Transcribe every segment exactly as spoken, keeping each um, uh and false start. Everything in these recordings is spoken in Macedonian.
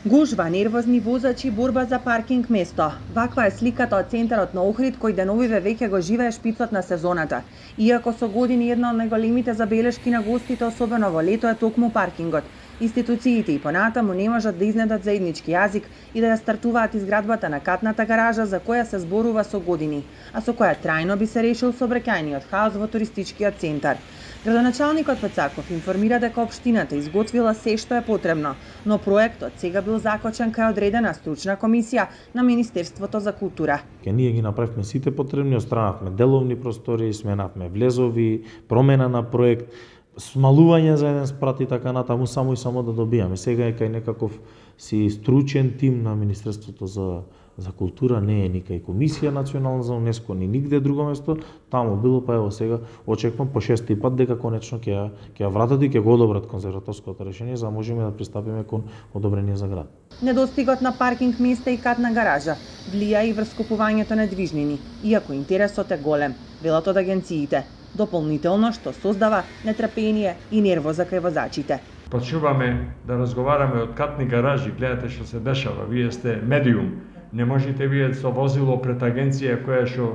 Гужва, нервозни возачи, борба за паркинг место. Ваква е сликата од центарот на Охрид, кој деновиве веќе го живее шпицот на сезоната. Иако со години една од најголемите забелешки на гостите, особено во лето, е токму паркингот. Институциите и понатаму не можат да изнедат заеднички јазик и да ја стартуваат изградбата на катната гаража за која се зборува со години, а со која трајно би се решил сообраќајниот хаос во туристичкиот центар. Градоначалникот Пецаков информира дека општината изготвила се што е потребно, но проектот сега бил закочен кај одредена стручна комисија на Министерството за култура. Ке ние ги направивме сите потребни, отстранавме деловни простори, сменавме влезови, промена на проект, смалување за еден спрат и така натаму, само и само да добијаме. Сега е кај некаков си стручен тим на Министерството за за култура, не е ни кај комисија национална за УНЕСКО, ни нигде друго место, таму било, па ево сега очекувам по шести пат дека конечно ќе ја ќе ја вратат и ќе го одобрат конзерваторското решение за да можеме да пристапиме кон одобрение за град. Недостигот на паркинг места и катна гаража влија и врз купувањето на движнини, иако интересот е голем, велат од агенциите. Дополнително што создава нетрпение и нервоза кај возачите. Почнуваме да разговараме од катни гаражи, гледате што се дешава, вие сте медиум. Не можете вие со возило пред агенција која што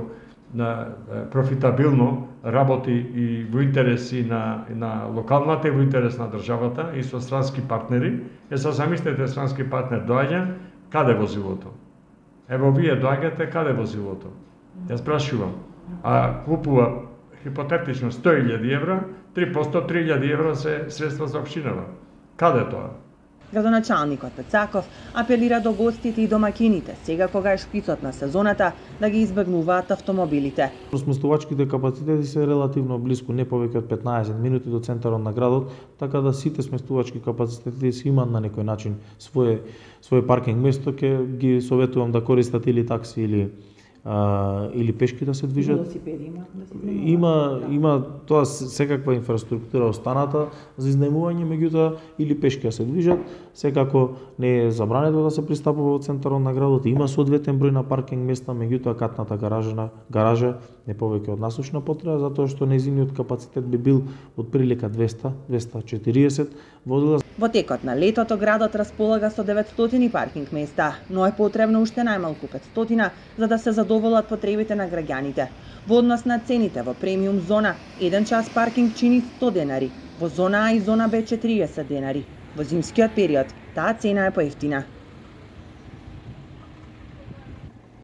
на профитабилно работи и во интереси на на локалната и во интерес на државата и со странски партнери. Е се замислете, странски партнер доаѓа, каде возилото? Ево вие доаѓате, каде возилото? Јас прашувам. А купува хипотетично сто илјади евра, три по сто, три илјади евра се средства за општината. Каде тоа? Градоначалникот Пецаков апелира до гостите и домакините, сега кога е шпицот на сезоната, да ги избегнуваат автомобилите. Сместувачките капацитети се релативно близко, не повеќе од петнаесет минути до центарот на градот, така да сите сместувачки капацитети си имаат на некој начин свое свое паркинг место, ќе ги советувам да користат или такси или а, или пешки да се движат. Велосипеди има да се Има има тоа секаква инфраструктура останата за изнајмување, меѓутоа или пешки да се движат. Секако не е забрането да се пристапува во центарот на градот. Има соодветен број на паркинг места, меѓутоа катната гаража гаража не повеќе од насушна потреба, затоа што нејзиниот капацитет би бил од прилика двеста до двеста и четириесет возила. Во текот на летото градот располага со деветстотини паркинг места, но е потребно уште најмалку петстотини за да се задоволат потребите на граѓаните. Во однос на цените во премиум зона, еден час паркинг чини сто денари, во зона А и зона Б четириесет денари. Во зимскиот период таа цена е поевтина.